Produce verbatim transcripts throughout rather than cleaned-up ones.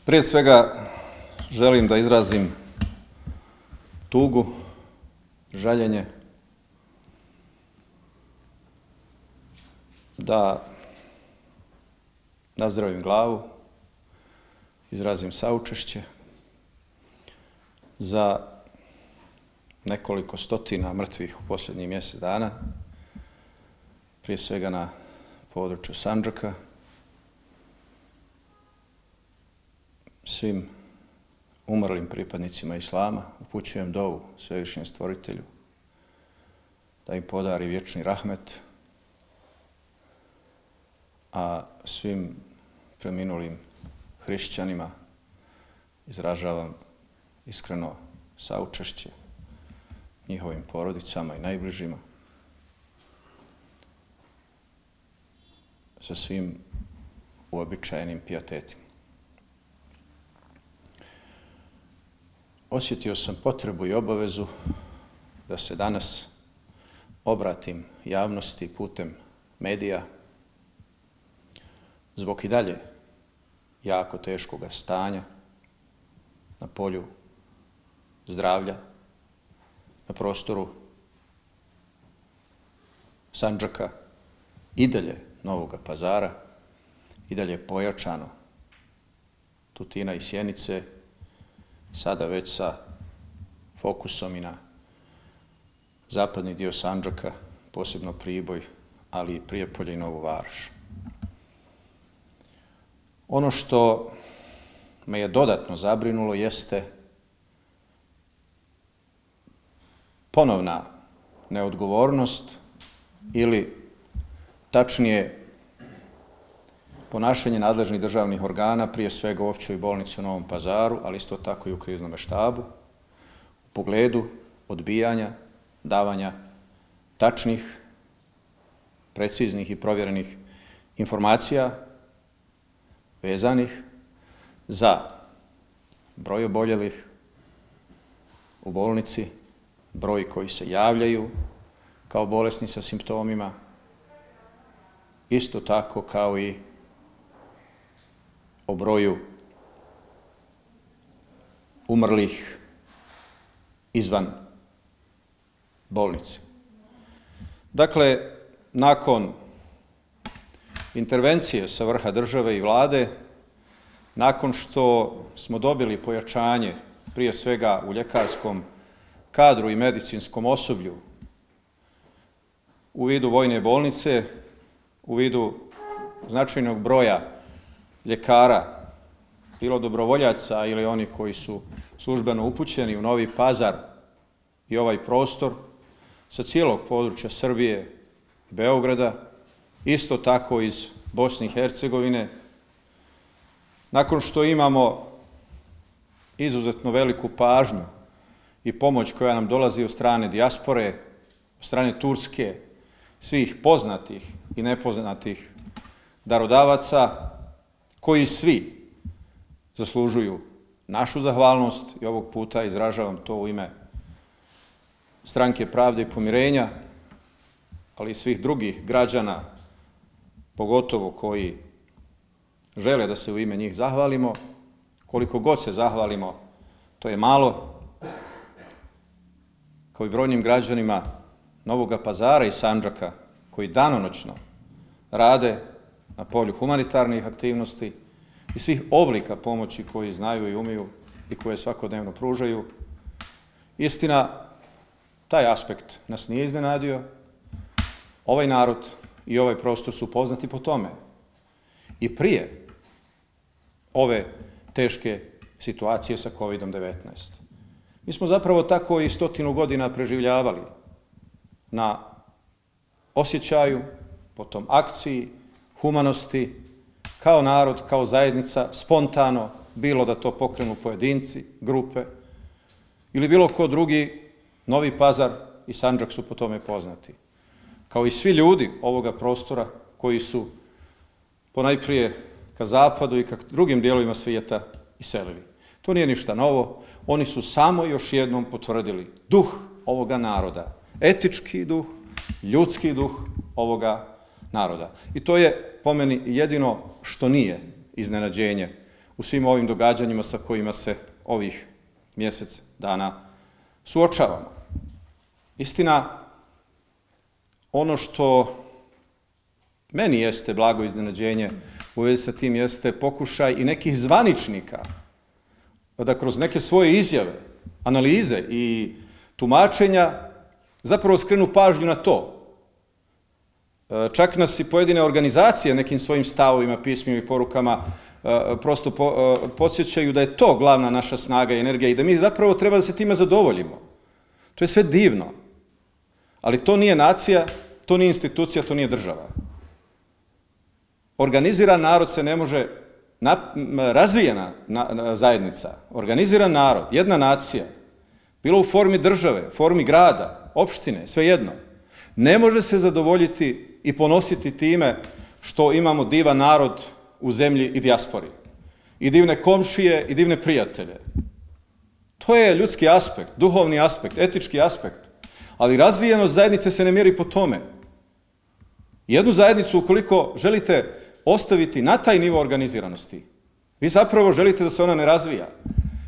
Prije svega želim da izrazim tugu, žaljenje, da nazdravim glavu, izrazim saučešće za nekoliko stotina mrtvih u posljednjih mjesec dana, prije svega na području Sandžaka, svim umrlim pripadnicima Islama upućujem dovu Svevišnjem Stvoritelju da im podari vječni rahmet, a svim preminulim hrišćanima izražavam iskreno saučešće njihovim porodicama i najbližima, sa svim uobičajenim pijetetima. Osjetio sam potrebu i obavezu da se danas obratim javnosti putem medija zbog i dalje jako teškog stanja na polju zdravlja, na prostoru Sandžaka, i dalje Novoga Pazara, i dalje pojačano Tutina i Sjenice, sada već sa fokusom i na zapadni dio Sandžaka, posebno Priboj, ali i Prijepolje i Novu Varoš. Ono što me je dodatno zabrinulo jeste ponovna neodgovornost ili tačnije ponašanje nadležnih državnih organa, prije svega u Općoj bolnici u Novom Pazaru, ali isto tako i u kriznome štabu, u pogledu odbijanja, davanja tačnih, preciznih i provjerenih informacija vezanih za broj oboljelih u bolnici, broj koji se javljaju kao bolesni sa simptomima, isto tako kao i o broju umrlih izvan bolnice. Dakle, nakon intervencije sa vrha države i vlade, nakon što smo dobili pojačanje prije svega u ljekarskom kadru i medicinskom osoblju u vidu vojne bolnice, u vidu značajnog broja ljekara, bilo dobrovoljaca ili oni koji su službeno upućeni u Novi Pazar i ovaj prostor sa cijelog područja Srbije, Beograda, isto tako iz Bosne i Hercegovine, nakon što imamo izuzetno veliku pažnju i pomoć koja nam dolazi od strane dijaspore, od strane Turske, svih poznatih i nepoznatih darodavaca, koji svi zaslužuju našu zahvalnost, i ovog puta izražavam to u ime Stranke pravde i pomirenja, ali i svih drugih građana, pogotovo koji žele da se u ime njih zahvalimo. Koliko god se zahvalimo, to je malo, kao i brojnim građanima Novoga Pazara i Sandžaka, koji danonoćno rade na polju humanitarnih aktivnosti i svih oblika pomoći koji znaju i umiju i koje svakodnevno pružaju. Istina, taj aspekt nas nije iznenadio. Ovaj narod i ovaj prostor su poznati po tome. I prije ove teške situacije sa kovidom devetnaest. Mi smo zapravo tako i stotinu godina preživljavali na osjećaju, potom akciji, humanosti, kao narod, kao zajednica, spontano, bilo da to pokrenu pojedinci, grupe, ili bilo ko drugi. Novi Pazar i Sandžak su po tome poznati. Kao i svi ljudi ovoga prostora koji su ponajprije ka zapadu i ka drugim dijelovima svijeta iselili. To nije ništa novo. Oni su samo još jednom potvrdili duh ovoga naroda, etički duh, ljudski duh ovoga naroda. I to je po meni jedino što nije iznenađenje u svim ovim događanjima sa kojima se ovih mjesec dana suočavamo. Istina, ono što meni jeste blago iznenađenje u vezi sa tim jeste pokušaj i nekih zvaničnika da kroz neke svoje izjave, analize i tumačenja zapravo skrenu pažnju na to. Čak nas i pojedine organizacije nekim svojim stavovima, pismima i porukama prosto podsjećaju da je to glavna naša snaga i energija i da mi zapravo treba da se time zadovoljimo. To je sve divno, ali to nije nacija, to nije institucija, to nije država. Organiziran narod se ne može, razvijena zajednica, organiziran narod, jedna nacija, bilo u formi države, formi grada, opštine, svejedno, ne može se zadovoljiti i ponositi time što imamo divan narod u zemlji i dijaspori. I divne komšije i divne prijatelje. To je ljudski aspekt, duhovni aspekt, etički aspekt. Ali razvijenost zajednice se ne mjeri po tome. Jednu zajednicu, ukoliko želite ostaviti na taj nivo organiziranosti, vi zapravo želite da se ona ne razvija.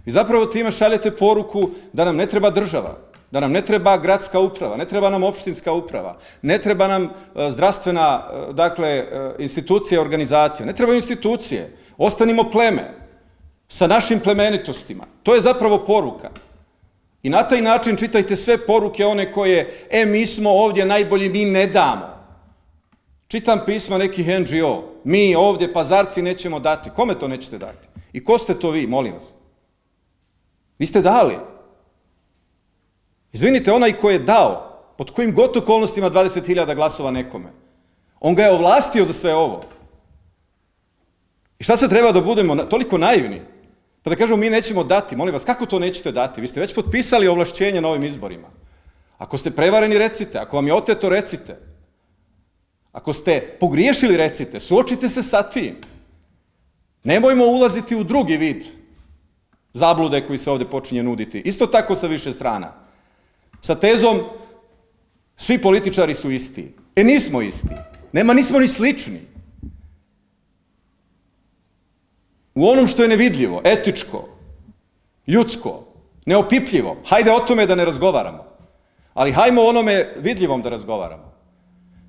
Vi zapravo time šaljete poruku da nam ne treba država, da nam ne treba gradska uprava, ne treba nam opštinska uprava, ne treba nam zdravstvena, dakle, institucija, organizacija, ne trebaju institucije, ostanimo pleme sa našim plemenitostima. To je zapravo poruka. I na taj način čitajte sve poruke one koje, e, mi smo ovdje najbolji, mi ne damo. Čitam pisma nekih en dži o, mi ovdje pazarci nećemo dati. Kome to nećete dati? I ko ste to vi, molim vas? Vi ste dali. Izvinite, onaj ko je dao, pod kojim god okolnostima dvadeset hiljada glasova nekome, on ga je ovlastio za sve ovo. I šta se treba da budemo toliko naivni? Pa da kažemo mi nećemo dati, molim vas, kako to nećete dati? Vi ste već potpisali ovlašćenje na ovim izborima. Ako ste prevareni, recite. Ako vam je oteto, recite. Ako ste pogriješili, recite. Suočite se sa tim. Nemojmo ulaziti u drugi vid zablude koji se ovdje počinje nuditi. Isto tako sa više strana. Sa tezom svi političari su isti. E, nismo isti. Nema, nismo ni slični. U onom što je nevidljivo, etičko, ljudsko, neopipljivo, hajde o tome da ne razgovaramo. Ali hajmo o onome vidljivom da razgovaramo.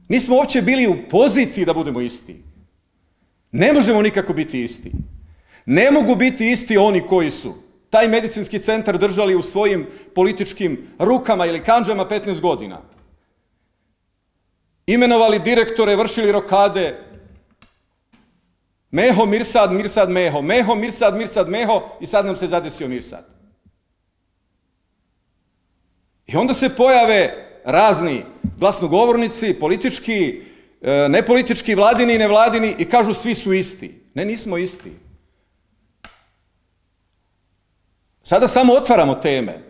Nismo uopće bili u poziciji da budemo isti. Ne možemo nikako biti isti. Ne mogu biti isti oni koji su taj medicinski centar držali u svojim političkim rukama ili kandžama petnaest godina. Imenovali direktore, vršili rokade. Meho, Mirsad, Mirsad, Meho. Meho, Mirsad, Mirsad, Meho i sad nam se zadesio Mirsad. I onda se pojave razni glasnogovornici, politički, nepolitički, vladini i nevladini i kažu svi su isti. Ne, nismo isti. Sada samo otvaramo teme,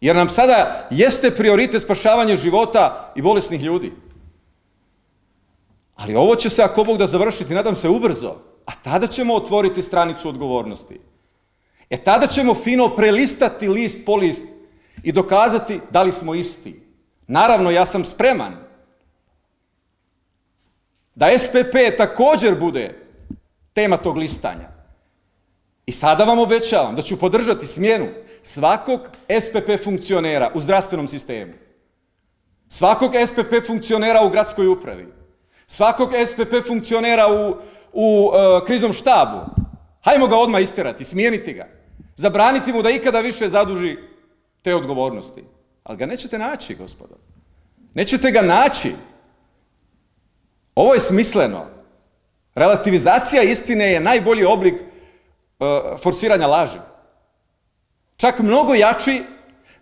jer nam sada jeste prioritet spašavanje života i bolesnih ljudi. Ali ovo će se, ako Bog da, završiti, nadam se, ubrzo, a tada ćemo otvoriti stranicu odgovornosti. E tada ćemo fino prelistati list po list i dokazati da li smo isti. Naravno, ja sam spreman da es pe pe također bude tema tog listanja. I sada vam obećavam da ću podržati smjenu svakog es pe pe funkcionera u zdravstvenom sistemu, svakog es pe pe funkcionera u gradskoj upravi, svakog es pe pe funkcionera u, u uh, kriznom štabu. Hajmo ga odmah isterati, smijeniti ga, zabraniti mu da ikada više zaduži te odgovornosti. Ali ga nećete naći, gospodo. Nećete ga naći. Ovo je smisleno. Relativizacija istine je najbolji oblik uh, forsiranja laži. Čak mnogo jači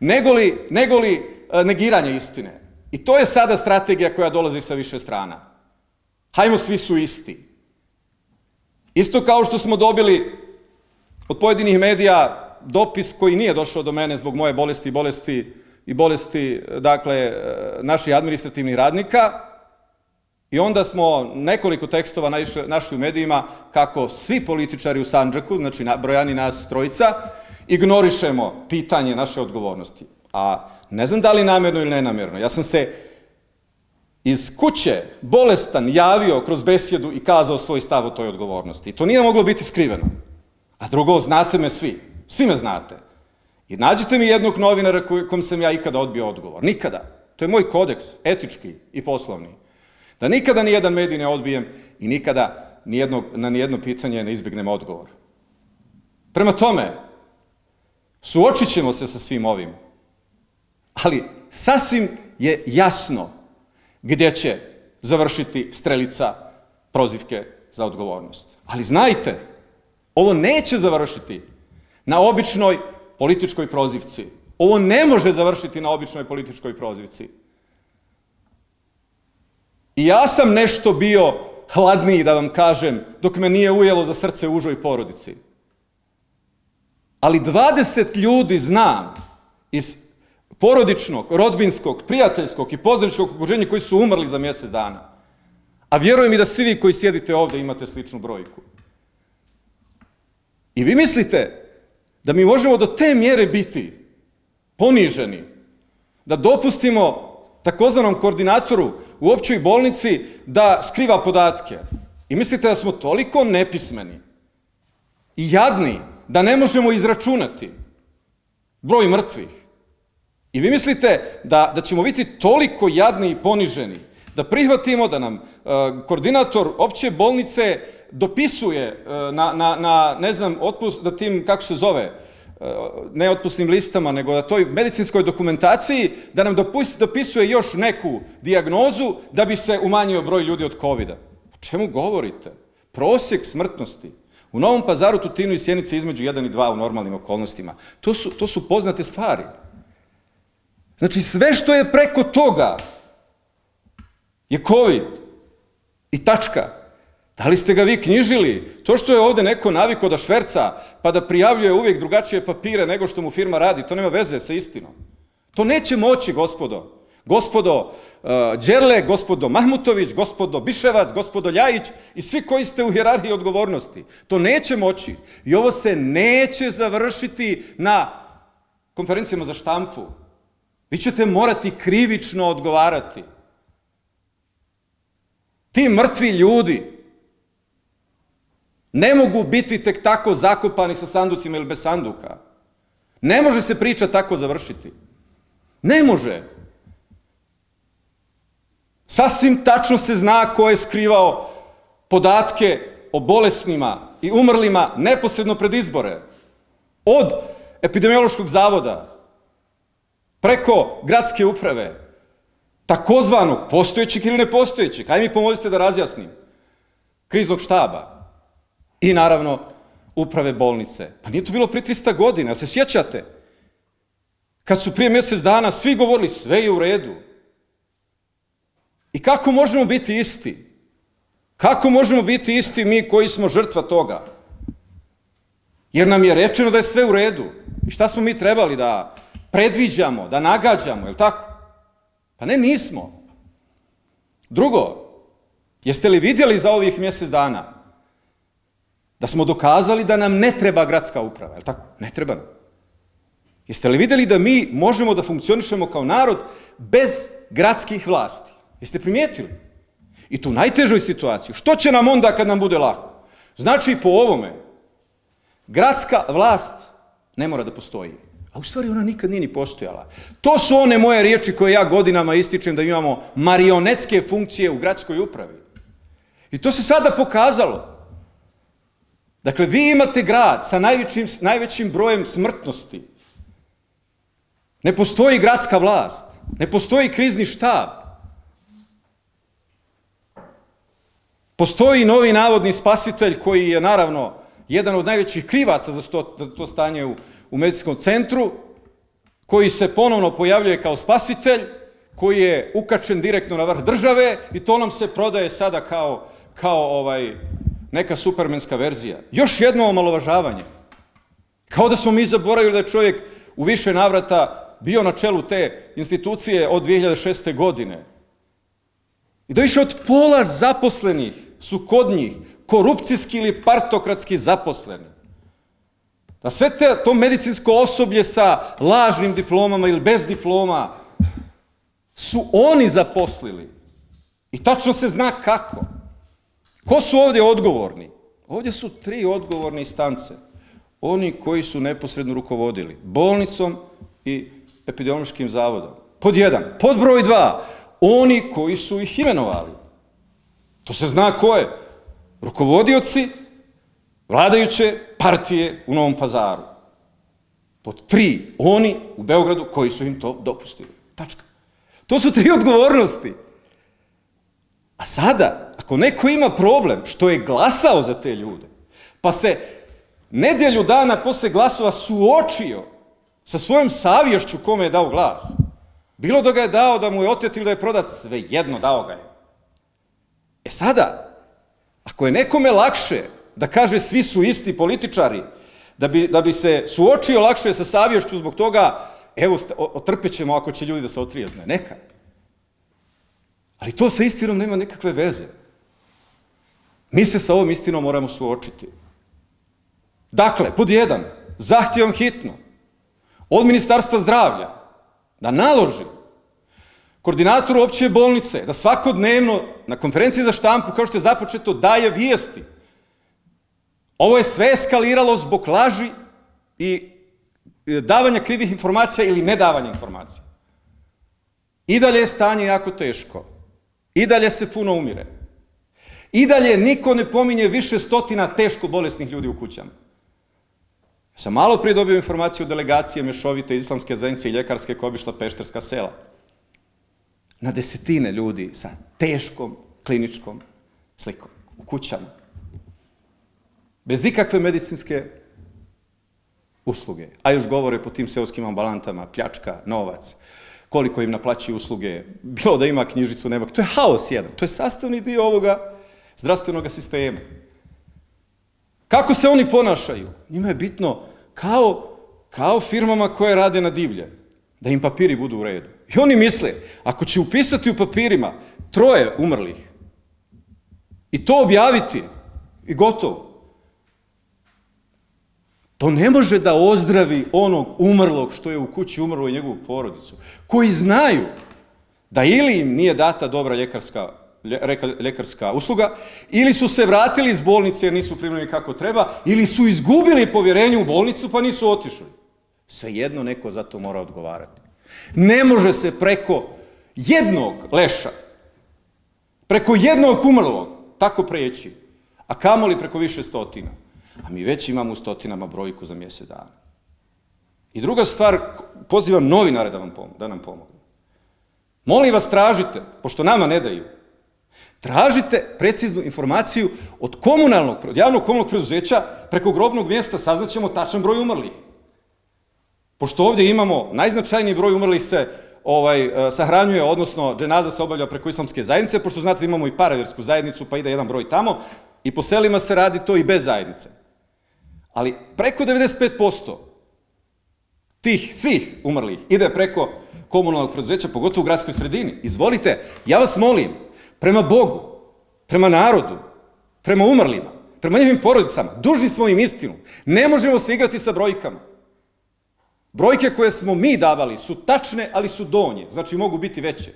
negoli, negoli uh, negiranje istine. I to je sada strategija koja dolazi sa više strana. Hajmo, svi su isti. Isto kao što smo dobili od pojedinih medija dopis koji nije došao do mene zbog moje bolesti i bolesti i bolesti, dakle, naših administrativnih radnika. I onda smo nekoliko tekstova našli u medijima kako svi političari u Sandžaku, znači brojani nas trojica, ignorišemo pitanje naše odgovornosti. A ne znam da li namjerno ili nenamjerno. Ja sam se iz kuće bolestan javio kroz besjedu i kazao svoj stav o toj odgovornosti. I to nije moglo biti skriveno. A drugo, znate me svi. Svi me znate. I nađite mi jednog novinara kom sam ja ikada odbio odgovor. Nikada. To je moj kodeks, etički i poslovni. Da nikada nijedan medij ne odbijem i nikada nijednog, na nijedno pitanje ne izbjegnem odgovor. Prema tome, suočit ćemo se sa svim ovim. Ali sasvim je jasno gdje će završiti strelica prozivke za odgovornost. Ali znajte, ovo neće završiti na običnoj političkoj prozivci. Ovo ne može završiti na običnoj političkoj prozivci. I ja sam nešto bio hladniji, da vam kažem, dok me nije ujelo za srce u užoj porodici. Ali dvadeset ljudi znam iz porodičnog, rodbinskog, prijateljskog i poznaničkog okruženja koji su umrli za mjesec dana. A vjerujem i da svi vi koji sjedite ovdje imate sličnu brojku. I vi mislite da mi možemo do te mjere biti poniženi, da dopustimo takozvanom koordinatoru u općoj bolnici da skriva podatke. I mislite da smo toliko nepismeni i jadni da ne možemo izračunati broj mrtvih. I vi mislite da, da ćemo biti toliko jadni i poniženi da prihvatimo da nam uh, koordinator opće bolnice dopisuje uh, na, na, na, ne znam, otpust, da tim, kako se zove, uh, ne otpusnim listama, nego na toj medicinskoj dokumentaciji, da nam dopus, dopisuje još neku dijagnozu da bi se umanjio broj ljudi od kovida. O čemu govorite? Prosjek smrtnosti u Novom Pazaru, Tutinu i Sjenici između jedan i dva u normalnim okolnostima. To su, to su poznate stvari. Znači, sve što je preko toga je COVID i tačka. Da li ste ga vi knjižili? To što je ovdje neko navikao da šverca pa da prijavljuje uvijek drugačije papire nego što mu firma radi, to nema veze sa istinom. To neće moći, gospodo. Gospodo uh, Đerle, gospodo Mahmutović, gospodo Biševac, gospodo Ljajić i svi koji ste u hijerarhiji odgovornosti. To neće moći. I ovo se neće završiti na konferencijama za štampu. Vi ćete morati krivično odgovarati. Ti mrtvi ljudi ne mogu biti tek tako zakopani sa sanducima ili bez sanduka. Ne može se priča tako završiti. Ne može. Sasvim tačno se zna ko je skrivao podatke o bolesnima i umrlima neposredno pred izbore. Od epidemiološkog zavoda, preko gradske uprave, takozvanog postojećeg ili nepostojećeg, ajde mi pomozite da razjasnim, kriznog štaba i naravno uprave bolnice. Pa nije to bilo prije trista godina, se sjećate? Kad su prije mjesec dana svi govorili sve je u redu. I kako možemo biti isti? Kako možemo biti isti mi koji smo žrtva toga? Jer nam je rečeno da je sve u redu. I šta smo mi trebali da predviđamo, da nagađamo, je li tako? Pa ne, nismo. Drugo, jeste li vidjeli za ovih mjesec dana da smo dokazali da nam ne treba gradska uprava, je li tako? Ne treba nam. Jeste li vidjeli da mi možemo da funkcionišemo kao narod bez gradskih vlasti? Jeste primijetili? I tu najtežoj situaciji. Što će nam onda kad nam bude lako? Znači, po ovome, gradska vlast ne mora da postoji. A u stvari ona nikad nije ni postojala. To su one moje riječi koje ja godinama ističem da imamo marionetske funkcije u gradskoj upravi. I to se sada pokazalo. Dakle, vi imate grad sa najvećim, najvećim brojem smrtnosti. Ne postoji gradska vlast. Ne postoji krizni štab. Postoji novi navodni spasitelj koji je naravno jedan od najvećih krivaca za to, to stanje u, u medicinskom centru, koji se ponovno pojavljuje kao spasitelj, koji je ukačen direktno na vrh države i to nam se prodaje sada kao, kao ovaj, neka supermenska verzija. Još jedno omalovažavanje. Kao da smo mi zaboravili da je čovjek u više navrata bio na čelu te institucije od dvije hiljade šeste. godine. I da više od pola zaposlenih su kod njih korupcijski ili partokratski zaposleni. Da sve te, to medicinsko osoblje sa lažnim diplomama ili bez diploma su oni zaposlili. I tačno se zna kako. Ko su ovdje odgovorni? Ovdje su tri odgovorne instance. oni koji su neposredno rukovodili bolnicom i epidemiološkim zavodom. Pod jedan. Pod broj dva, oni koji su ih imenovali. To se zna ko je. Rukovodioci vladajuće partije u Novom Pazaru. Pod tri, oni u Beogradu koji su im to dopustili. Tačka. To su tri odgovornosti. A sada, ako neko ima problem što je glasao za te ljude, pa se nedjelju dana posle glasova suočio sa svojom savješću kome je dao glas, bilo da ga je dao, da mu je otet ili da je prodat, svejedno dao ga je. E sada, ako je nekome lakše da kaže svi su isti političari, da bi, da bi se suočio lakše sa savješću zbog toga, evo, otrpet ćemo ako će ljudi da se otrijezne, neka. Ali to sa istinom nema nikakve veze. Mi se sa ovom istinom moramo suočiti. Dakle, pod jedan, zahtjevam hitno od Ministarstva zdravlja da naloži koordinatoru opće bolnice da svakodnevno na konferenciji za štampu, kao što je započeto, daje vijesti. Ovo je sve eskaliralo zbog laži i davanja krivih informacija ili nedavanja informacija. I dalje je stanje jako teško. I dalje se puno umire. I dalje niko ne pominje više stotina teško bolesnih ljudi u kućama. Ja sam malo prije dobio informaciju o delegacije mješovite islamske zajednice i ljekarske koja obišla pešterska sela. Na desetine ljudi sa teškom kliničkom slikom u kućama. Bez ikakve medicinske usluge. A još govore po tim seoskim ambulantama, pljačka, novac, koliko im naplaćuju usluge, bilo da ima knjižicu, nema. To je haos jedan. To je sastavni dio ovoga zdravstvenog sistema. Kako se oni ponašaju? Njima je bitno kao, kao firmama koje rade na divlje, da im papiri budu u redu. I oni misle, ako će upisati u papirima troje umrlih i to objaviti i gotovo, to ne može da ozdravi onog umrlog što je u kući umrlo i njegovu porodicu, koji znaju da ili im nije data dobra ljekarska, ljekarska usluga, ili su se vratili iz bolnice jer nisu primljeni kako treba, ili su izgubili povjerenje u bolnicu pa nisu otišli. Svejedno neko za to mora odgovarati. Ne može se preko jednog leša, preko jednog umrlog tako preći, a kamoli preko više stotina. A mi već imamo u stotinama brojku za mjesec dana. I druga stvar, pozivam novinare da, vam pom da nam pomognu. Molim vas, tražite, pošto nama ne daju, tražite preciznu informaciju od komunalnog, od javnog komunalnog preduzeća, preko grobnog mjesta saznaćemo tačan broj umrlih. Pošto ovdje imamo najznačajniji broj umrlih se ovaj, sahranjuje, odnosno dženaza se obavlja preko islamske zajednice, pošto znate da imamo i paravjersku zajednicu, pa ide jedan broj tamo, i po selima se radi to i bez zajednice. Ali preko devedeset pet posto tih svih umrlih ide preko komunalnog preduzeća, pogotovo u gradskoj sredini. Izvolite, ja vas molim, prema Bogu, prema narodu, prema umrlima, prema njihovim porodicama, dužni smo im istinu. Ne možemo se igrati sa brojkama. Brojke koje smo mi davali su tačne, ali su donje, znači mogu biti veće.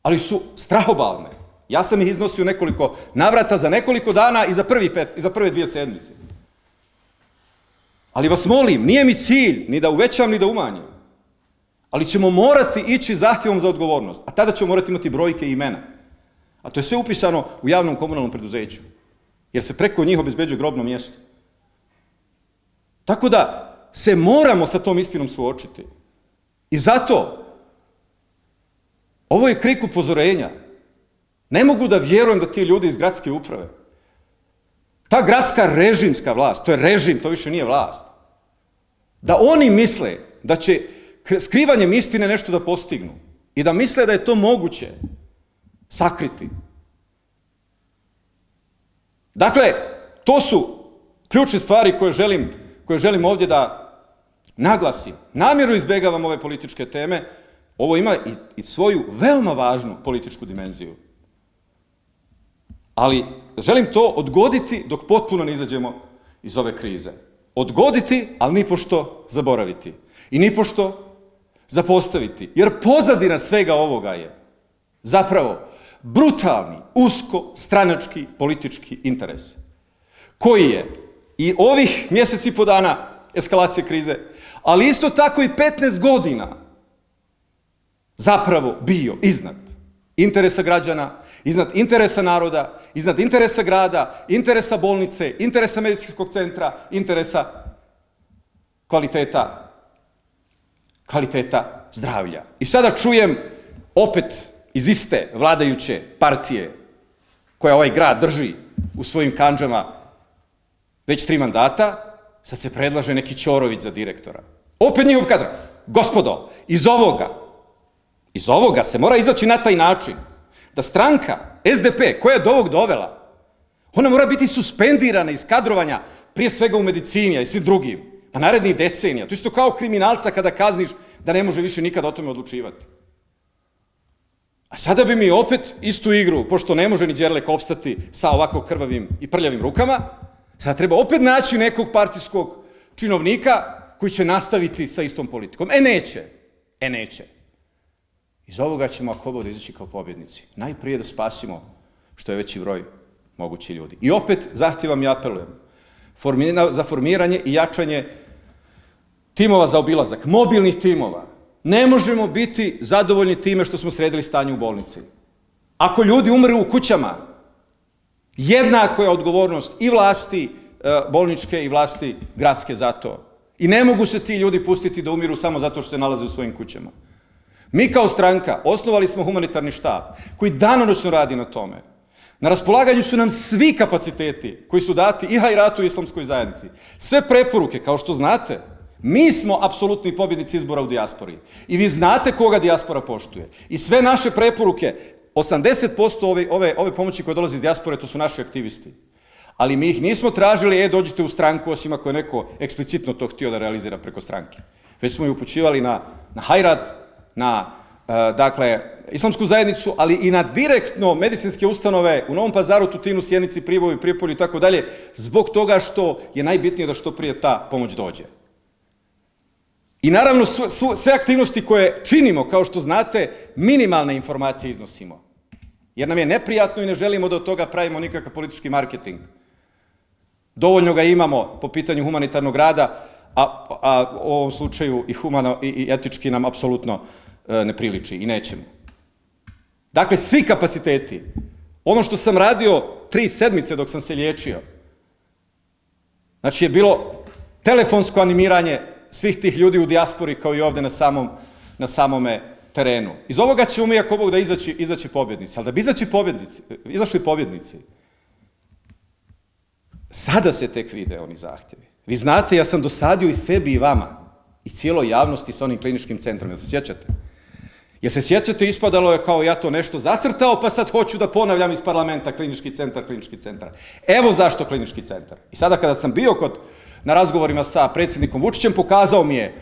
Ali su strahobalne. Ja sam ih iznosio nekoliko navrata za nekoliko dana i za, prvi pet, i za prve dvije sedmice. Ali vas molim, nije mi cilj ni da uvećam ni da umanjim, ali ćemo morati ići zahtjevom za odgovornost, a tada ćemo morati imati brojke i imena. A to je sve upisano u javnom komunalnom preduzeću, jer se preko njih obezbeđuje grobno mjesto. Tako da se moramo sa tom istinom suočiti. I zato ovo je krik upozorenja. Ne mogu da vjerujem da ti ljudi iz gradske uprave, ta gradska režimska vlast, to je režim, to više nije vlast, da oni misle da će skrivanjem istine nešto da postignu i da misle da je to moguće sakriti. Dakle, to su ključne stvari koje želim, koje želim ovdje da naglasim. Namjerno izbjegavam ove političke teme, ovo ima i, i svoju veoma važnu političku dimenziju. Ali želim to odgoditi dok potpuno ne izađemo iz ove krize. Odgoditi, ali nipošto zaboraviti. I nipošto zapostaviti. Jer pozadina svega ovoga je zapravo brutalni, usko, stranački, politički interes. Koji je i ovih mjesec i po dana eskalacije krize, ali isto tako i petnaest godina zapravo bio iznad interesa građana, iznad interesa naroda, iznad interesa grada, interesa bolnice, interesa medicinskog centra, interesa kvaliteta, kvaliteta zdravlja. I sada čujem opet iz iste vladajuće partije koja ovaj grad drži u svojim kandžama već tri mandata, sad se predlaže neki Ćorović za direktora. Opet njihov kadar. Gospodo, iz ovoga, iz ovoga se mora izaći na taj način da stranka S D P koja je do ovog dovela, ona mora biti suspendirana iz kadrovanja, prije svega u medicini, a i svim drugim, na narednih decenija. To isto kao kriminalca kada kazniš da ne može više nikada o tome odlučivati. A sada bi mi opet istu igru, pošto ne može ni Đerlek opstati sa ovako krvavim i prljavim rukama, sada treba opet naći nekog partijskog činovnika koji će nastaviti sa istom politikom. E neće, e neće. Iz ovoga ćemo ako bude izaći kao pobjednici. Najprije da spasimo što je veći broj mogući ljudi. I opet zahtjevam i apelujem za formiranje i jačanje timova za obilazak, mobilnih timova. Ne možemo biti zadovoljni time što smo sredili stanje u bolnici. Ako ljudi umru u kućama, jednako je odgovornost i vlasti bolničke i vlasti gradske za to. I ne mogu se ti ljudi pustiti da umiru samo zato što se nalaze u svojim kućama. Mi kao stranka osnovali smo humanitarni štab koji danonoćno radi na tome. Na raspolaganju su nam svi kapaciteti koji su dati i Hajratu i islamskoj zajednici. Sve preporuke, kao što znate, mi smo apsolutni pobjednici izbora u dijaspori. I vi znate koga dijaspora poštuje. I sve naše preporuke, osamdeset posto ove, ove, ove pomoći koje dolaze iz dijaspore, to su naši aktivisti. Ali mi ih nismo tražili, e, dođite u stranku, osim ako je neko eksplicitno to htio da realizira preko stranke. Već smo ih upućivali na, na Hajrat, na e, dakle, islamsku zajednicu, ali i na direktno medicinske ustanove u Novom Pazaru, Tutinu, Sjenici, Priboju, Prijepolju i tako dalje, zbog toga što je najbitnije da što prije ta pomoć dođe. I naravno sve aktivnosti koje činimo, kao što znate, minimalne informacije iznosimo. Jer nam je neprijatno i ne želimo da od toga pravimo nikakav politički marketing. Dovoljno ga imamo po pitanju humanitarnog rada, a, a u ovom slučaju i, humano, i, i etički nam apsolutno e, ne priliči i nećemo. Dakle, svi kapaciteti, ono što sam radio tri sedmice dok sam se liječio, znači je bilo telefonsko animiranje svih tih ljudi u dijaspori kao i ovde na, samom, na samome terenu. Iz ovoga ćemo mi, ako Bog, da izaći, izaći pobjednici. Ali da bi izaći pobjednici, izašli pobjednici, sada se tek vide oni zahtjevi. Vi znate, ja sam dosadio i sebi i vama i cijeloj javnosti sa onim kliničkim centrom. Jel se sjećate? Jel se sjećate, ispadalo je kao ja to nešto zacrtao, pa sad hoću da ponavljam iz parlamenta klinički centar, klinički centar. Evo zašto klinički centar. I sada kada sam bio kod, na razgovorima sa predsjednikom Vučićem, pokazao mi je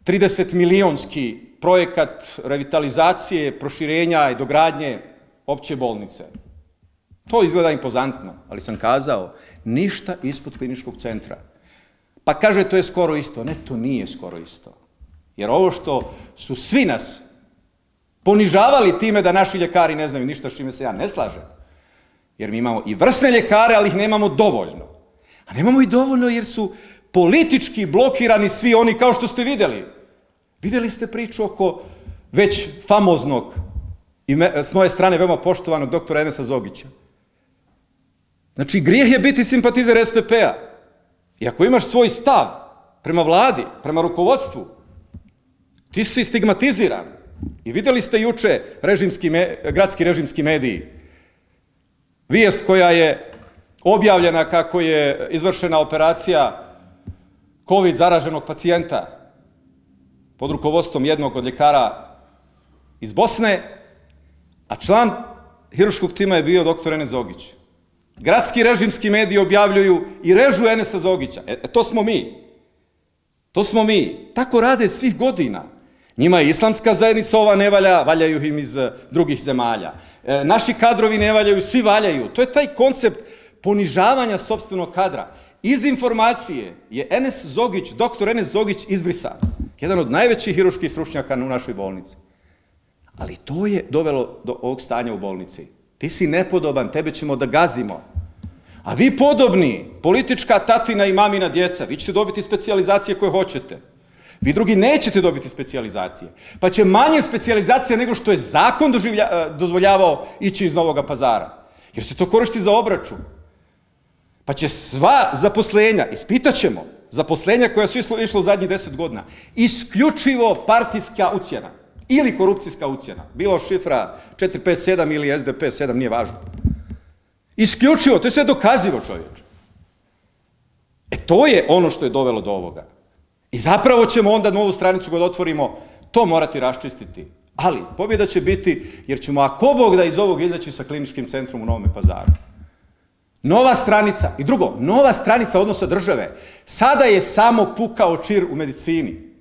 trideset milionski projekat revitalizacije, proširenja i dogradnje opće bolnice. To izgleda impozantno, ali sam kazao, ništa ispod kliničkog centra. Pa kaže, to je skoro isto. Ne, to nije skoro isto. Jer ovo što su svi nas ponižavali time da naši ljekari ne znaju ništa, s čime se ja ne slažem. Jer mi imamo i vrsne ljekare, ali ih nemamo dovoljno. A nemamo i dovoljno jer su politički blokirani svi oni, kao što ste vidjeli. Vidjeli ste priču oko već famoznog i s moje strane veoma poštovanog doktora Enesa Zogića. Znači, grijeh je biti simpatizer S P P-a. I ako imaš svoj stav prema vladi, prema rukovodstvu, ti si stigmatiziran. I vidjeli ste juče režimski, gradski režimski mediji. Vijest koja je objavljena kako je izvršena operacija COVID zaraženog pacijenta pod rukovodstvom jednog od ljekara iz Bosne, a član hirurškog tima je bio doktor Enes Zogić. Gradski režimski mediji objavljuju i režu Enesa Zogića. E, to smo mi. To smo mi. Tako rade svih godina. Njima je islamska zajednica ova ne valja, valjaju im iz drugih zemalja. E, naši kadrovi ne valjaju, svi valjaju. To je taj koncept ponižavanja sopstvenog kadra. Iz informacije je Enes Zogić, doktor Enes Zogić izbrisan. Jedan od najvećih hirurških stručnjaka u našoj bolnici. Ali to je dovelo do ovog stanja u bolnici. Ti si nepodoban, tebe ćemo da gazimo. A vi podobni, politička tatina i mamina djeca, vi ćete dobiti specijalizacije koje hoćete. Vi drugi nećete dobiti specijalizacije. Pa će manje specijalizacija nego što je zakon dozvoljavao ići iz Novog Pazara. Jer se to koristi za obračun. Pa će sva zaposlenja, ispitat ćemo, zaposlenja koja su išla u zadnjih deset godina, isključivo partijska ucjena ili korupcijska ucjena. Bilo šifra četiri pet sedam ili S D P sedam, nije važno. Isključivo, to je sve dokazivo, čovječe. E to je ono što je dovelo do ovoga. I zapravo ćemo onda novu stranicu kad otvorimo to morati raščistiti. Ali pobjeda će biti jer ćemo ako Bog da iz ovog izaći sa kliničkim centrom u Novom Pazaru. Nova stranica, i drugo, nova stranica odnosa države. Sada je samo pukao čir u medicini.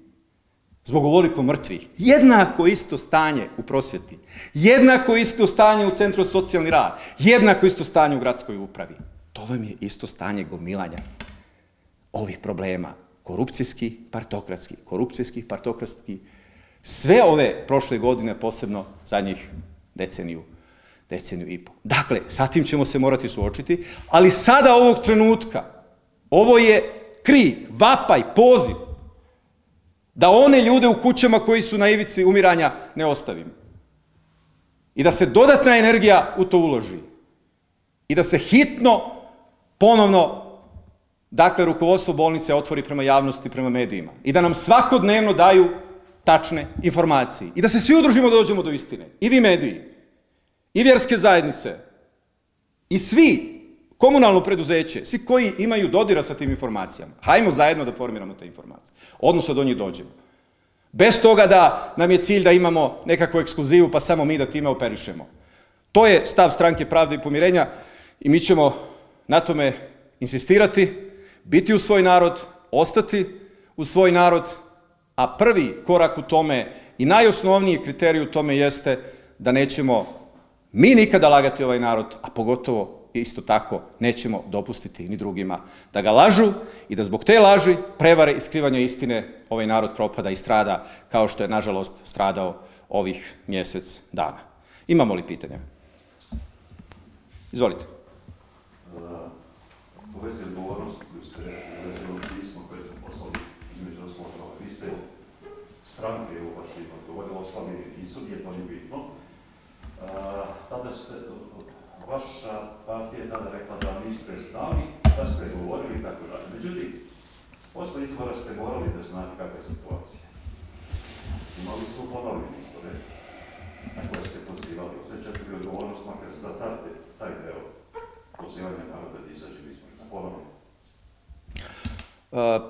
Zbog ovoliko mrtvih. Jednako isto stanje u prosvjeti. Jednako isto stanje u Centru za socijalni rad. Jednako isto stanje u gradskoj upravi. To vam je isto stanje gomilanja ovih problema. Korupcijski, partokratski, korupcijski, partokratski. Sve ove prošle godine, posebno zadnjih deceniju, deceniju i po. Dakle, sa tim ćemo se morati suočiti, ali sada ovog trenutka, ovo je krik, vapaj, poziv, da one ljude u kućama koji su na ivici umiranja ne ostavimo. I da se dodatna energija u to uloži. I da se hitno, ponovno, dakle, rukovodstvo bolnice otvori prema javnosti, prema medijima. I da nam svakodnevno daju tačne informacije. I da se svi udružimo da dođemo do istine. I vi mediji, i vjerske zajednice, i svi, komunalno preduzeće, svi koji imaju dodira sa tim informacijama. Hajmo zajedno da formiramo te informacije. Odnosno do njih dođemo. Bez toga da nam je cilj da imamo nekakvu ekskluzivu, pa samo mi da time operišemo. To je stav Stranke pravde i pomirenja i mi ćemo na tome insistirati, biti u svoj narod, ostati u svoj narod, a prvi korak u tome i najosnovniji kriterij u tome jeste da nećemo mi nikada lagati ovaj narod, a pogotovo isto tako nećemo dopustiti ni drugima da ga lažu i da zbog te laži, prevare i skrivanja istine ovaj narod propada i strada kao što je nažalost stradao ovih mjesec dana. Imamo li pitanja? Izvolite. U vezi odgovornosti koju ste uvezili u pismo koje ste poslali između osloga, vi ste stranke u vašim odgovorili, ostali i sudje, to nije bitno. Tada ste, vaša partija je tada rekla da niste znali, da ste govorili i tako dalje. Međutim, posle izbora ste morali da znate kakva je situacija. Imali su ponovljeni izbore na koje ste pozivali. Osjećate li odgovornost makar za taj deo pozivanja naroda da izađe izbora? Ponovno.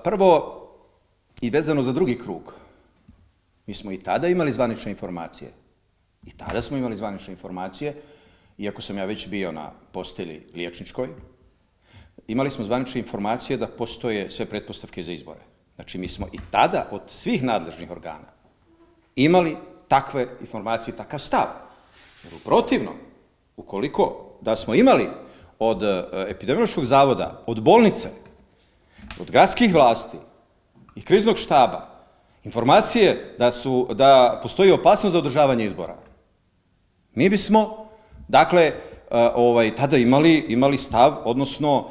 Prvo, i vezano za drugi krug, mi smo i tada imali zvanične informacije. I tada smo imali zvanične informacije, iako sam ja već bio na postelji liječničkoj, imali smo zvanične informacije da postoje sve pretpostavke za izbore. Znači, mi smo i tada od svih nadležnih organa imali takve informacije, takav stav. Jer u protivnom, ukoliko da smo imali od epidemiološkog zavoda, od bolnice, od gradskih vlasti i kriznog štaba, informacije da, su, da postoji opasnost za održavanje izbora, mi bismo, dakle, ovaj, tada imali, imali stav, odnosno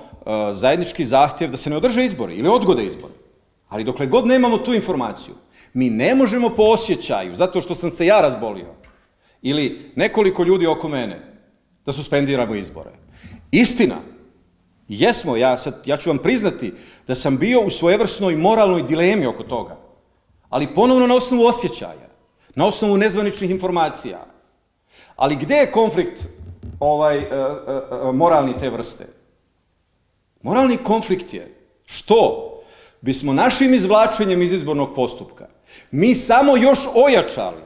zajednički zahtjev da se ne održe izbori ili odgode izbori. Ali dokle god nemamo tu informaciju, mi ne možemo po osjećaju, zato što sam se ja razbolio, ili nekoliko ljudi oko mene, da suspendiramo izbore. Istina, jesmo, ja, sad, ja ću vam priznati da sam bio u svojevrsnoj moralnoj dilemi oko toga, ali ponovno na osnovu osjećaja, na osnovu nezvaničnih informacija. Ali gde je konflikt ovaj, e, e, moralni te vrste? Moralni konflikt je što bismo našim izvlačenjem iz izbornog postupka mi samo još ojačali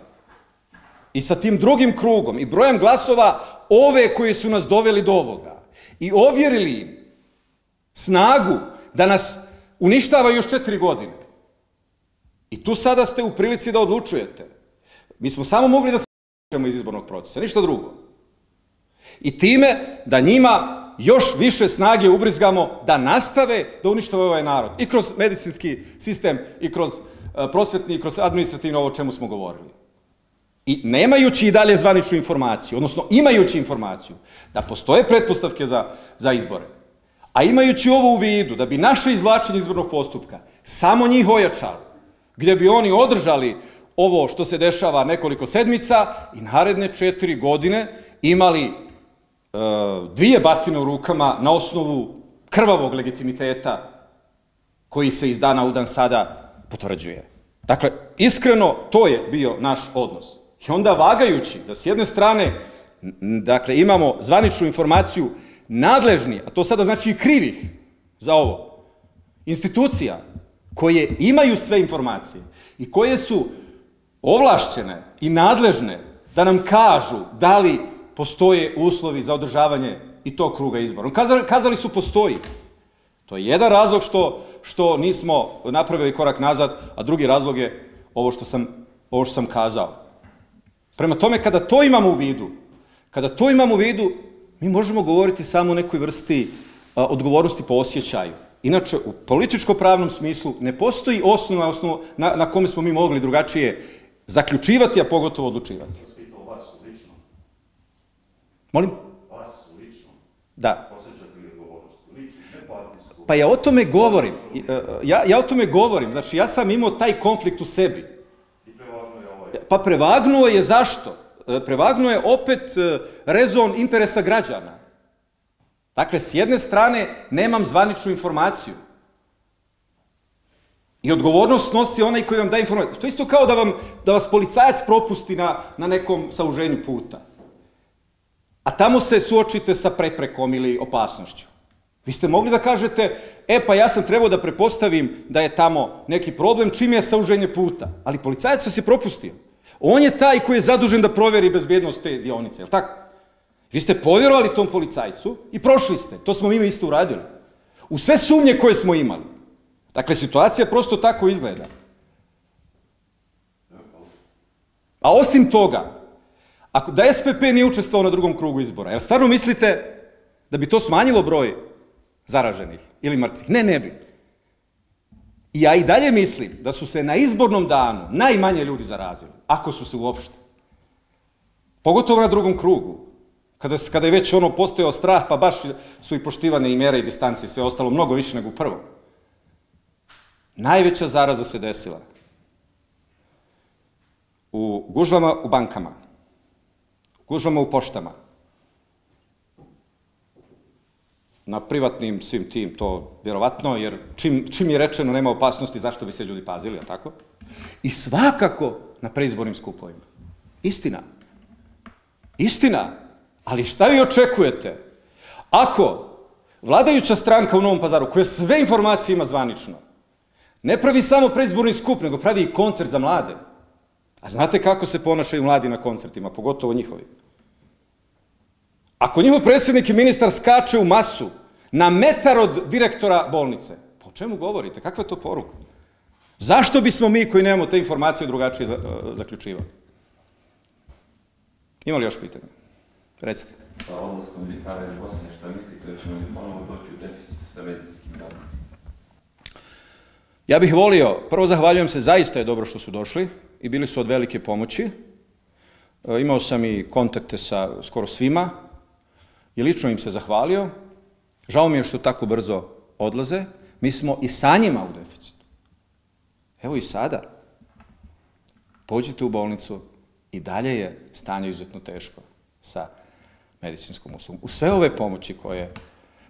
i sa tim drugim krugom i brojem glasova ove koji su nas doveli do ovoga i ovjerili im snagu da nas uništava još četiri godine. I tu sada ste u prilici da odlučujete. Mi smo samo mogli da se izvučemo iz izbornog procesa, ništa drugo. I time da njima još više snage ubrizgamo da nastave da uništavaju ovaj narod. I kroz medicinski sistem, i kroz prosvetni, i kroz administrativno ovo o čemu smo govorili. I nemajući i dalje zvaničnu informaciju, odnosno imajući informaciju da postoje pretpostavke za, za izbore, A imajući ovo u vidu, da bi naše izvlačenje izbornog postupka samo njih ojačalo, gdje bi oni održali ovo što se dešava nekoliko sedmica i naredne četiri godine imali e, dvije batine u rukama na osnovu krvavog legitimiteta koji se iz dana u dan sada potvrđuje. Dakle, iskreno, to je bio naš odnos. I onda vagajući da s jedne strane, dakle, imamo zvaničnu informaciju nadležni, a to sada znači i krivih za ovo, institucija koje imaju sve informacije i koje su ovlašćene i nadležne da nam kažu da li postoje uslovi za održavanje i tog kruga izbora. Kazali, kazali su postoji. To je jedan razlog što, što nismo napravili korak nazad, a drugi razlog je ovo što sam, ovo što sam kazao. Prema tome, kada to imamo u vidu, kada to imamo u vidu, mi možemo govoriti samo o nekoj vrsti a, odgovornosti po osjećaju. Inače, u političko-pravnom smislu ne postoji osnov na, osnovu na, na kome smo mi mogli drugačije zaključivati, a pogotovo odlučivati. Vas lično? Molim? Vas lično? Da. Osjećate li odgovornost? Lično, ne partijsku? Pa ja o tome govorim. Ja, ja o tome govorim. Znači, ja sam imao taj konflikt u sebi. I prevagnuo je ovaj? Pa prevagnuo je zašto? Prevagnuo je opet rezon interesa građana. Dakle, s jedne strane, nemam zvaničnu informaciju. I odgovornost nosi onaj koji vam daje informaciju. To je isto kao da, vam, da vas policajac propusti na, na nekom sauženju puta. A tamo se suočite sa preprekom ili opasnošću. Vi ste mogli da kažete, e pa ja sam trebao da prepostavim da je tamo neki problem čim je sauženje puta. Ali policajac vas je propustio. On je taj koji je zadužen da provjeri bezbjednost te dionice, je li tako? Vi ste povjerovali tom policajcu i prošli ste. To smo mi isto uradili. U sve sumnje koje smo imali. Dakle, situacija prosto tako izgleda. A osim toga, ako da S P P nije učestvovao na drugom krugu izbora, jel stvarno mislite da bi to smanjilo broj zaraženih ili mrtvih? Ne, ne bi. I ja i dalje mislim da su se na izbornom danu najmanje ljudi zarazili, ako su se uopšte. Pogotovo na drugom krugu. Kada, kada je već ono postojao strah, pa baš su i poštivane i mere i distance i sve ostalo mnogo više nego u prvom. Najveća zaraza se desila u gužvama u bankama, u gužvama u poštama, na privatnim svim tim, to vjerovatno, jer čim, čim je rečeno nema opasnosti, zašto bi se ljudi pazili, a tako? I svakako na preizbornim skupovima. Istina. Istina. Ali šta vi očekujete? Ako vladajuća stranka u Novom Pazaru, koja sve informacije ima zvanično, ne pravi samo preizborni skup, nego pravi i koncert za mlade. A znate kako se ponašaju mladi na koncertima, pogotovo njihovi? Ako njihov predsjednik i ministar skače u masu na metar od direktora bolnice, po čemu govorite? Kakva je to poruka? Zašto bismo mi koji nemamo te informacije drugačije zaključivali? Ima li još pitanja? Recite. Sa odlaskom ljekara iz Bosne, šta mislite da ćemo li ponovo doći u deficit sa medicinskim radnicima? Ja bih volio, prvo zahvaljujem se, zaista je dobro što su došli i bili su od velike pomoći. E, imao sam i kontakte sa skoro svima i lično im se zahvalio. Žao mi je što tako brzo odlaze. Mi smo i sa njima u deficitu. Evo i sada. Pođite u bolnicu i dalje je stanje izuzetno teško sa medicinskom uslugom. U sve ove pomoći koje,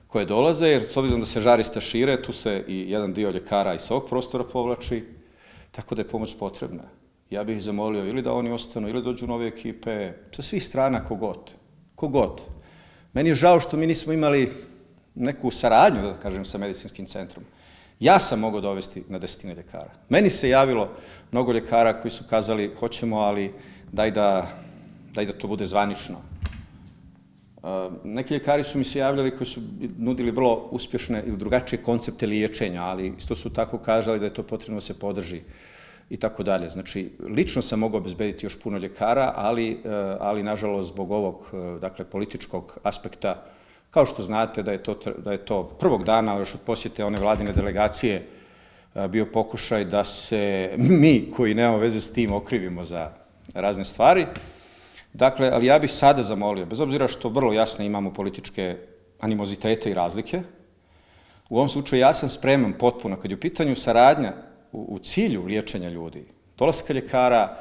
koje dolaze, jer s obzirom da se žarista šire, tu se i jedan dio ljekara iz ovog prostora povlači, tako da je pomoć potrebna. Ja bih ih zamolio ili da oni ostanu, ili dođu nove ekipe, sa svih strana kogod. Kogod. Meni je žao što mi nismo imali neku saradnju, da kažem, sa medicinskim centrom. Ja sam mogao dovesti na desetine ljekara. Meni se javilo mnogo ljekara koji su kazali, hoćemo, ali daj da, daj da to bude zvanično. Neki ljekari su mi se javljali koji su nudili vrlo uspješne ili drugačije koncepte liječenja, ali isto su tako kažali da je to potrebno da se podrži i tako dalje. Znači, lično sam mogao obezbediti još puno ljekara, ali, ali nažalost, zbog ovog, dakle, političkog aspekta, kao što znate da je to, da je to prvog dana, još od posjete one vladine delegacije, bio pokušaj da se mi, koji nemamo veze s tim, okrivimo za razne stvari. Dakle, ali ja bih sada zamolio, bez obzira što vrlo jasno imamo političke animozitete i razlike, U ovom slučaju ja sam spreman potpuno, kad je u pitanju saradnja u, u cilju liječenja ljudi, dolaska ljekara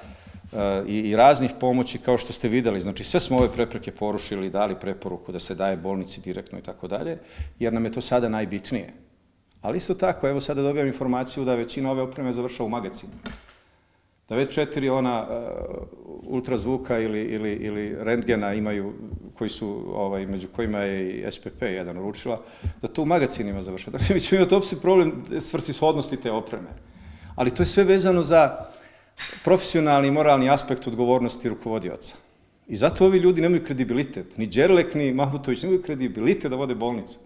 uh, i, i raznih pomoći, kao što ste videli, znači sve smo ove prepreke porušili, dali preporuku da se daje bolnici direktno i tako dalje, jer nam je to sada najbitnije. Ali isto tako, evo sada dobijam informaciju da većina ove opreme završava u magazinu. Da već četiri ona uh, ultrazvuka ili, ili, ili rentgena imaju, koji su, ovaj, među kojima je i S P P jedan uručila, da to u magazinima završava. Dakle, mi ćemo imati opet problem svrsishodnosti te opreme. Ali to je sve vezano za profesionalni i moralni aspekt odgovornosti rukovodioca. I zato ovi ljudi nemaju kredibilitet. Ni Đerlek, ni Mahmutović nemaju kredibilitet da vode bolnicu.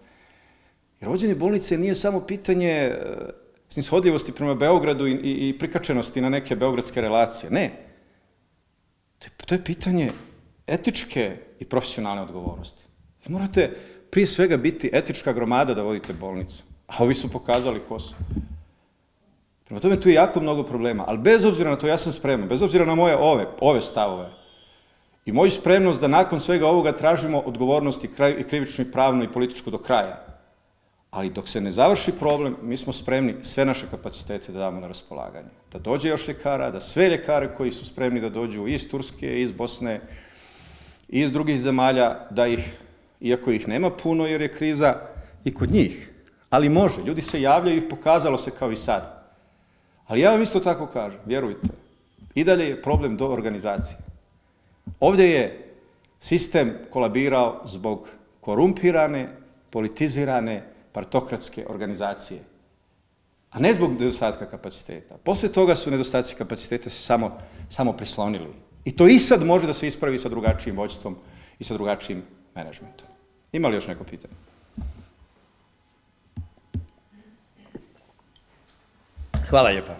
Jer vođenje bolnice nije samo pitanje snishodljivosti prema Beogradu i, i, i prikačenosti na neke beogradske relacije. Ne. To je, to je pitanje etičke i profesionalne odgovornosti. Vi morate prije svega biti etička gromada da vodite bolnicu. A ovi su pokazali ko su. Prema tome tu je jako mnogo problema. Ali bez obzira na to ja sam spreman, bez obzira na moje ove, ove stavove i moju spremnost da nakon svega ovoga tražimo odgovornost i, kraj, i krivičnu i pravnu i političku do kraja. Ali dok se ne završi problem, mi smo spremni sve naše kapacitete da damo na raspolaganje. Da dođe još ljekara, da sve ljekare koji su spremni da dođu iz Turske, iz Bosne, iz drugih zemalja, da ih, iako ih nema puno jer je kriza i kod njih, ali može, ljudi se javljaju i pokazalo se kao i sad. Ali ja vam isto tako kažem, vjerujte, i dalje je problem do organizacije. Ovdje je sistem kolabirao zbog korumpirane, politizirane, partokratske organizacije, a ne zbog nedostatka kapaciteta. Poslije toga su nedostaci kapaciteta se samo, samo prislonili. I to i sad može da se ispravi sa drugačijim vođstvom i sa drugačijim menadžmentom. Ima li još neko pitanje? Hvala lijepa.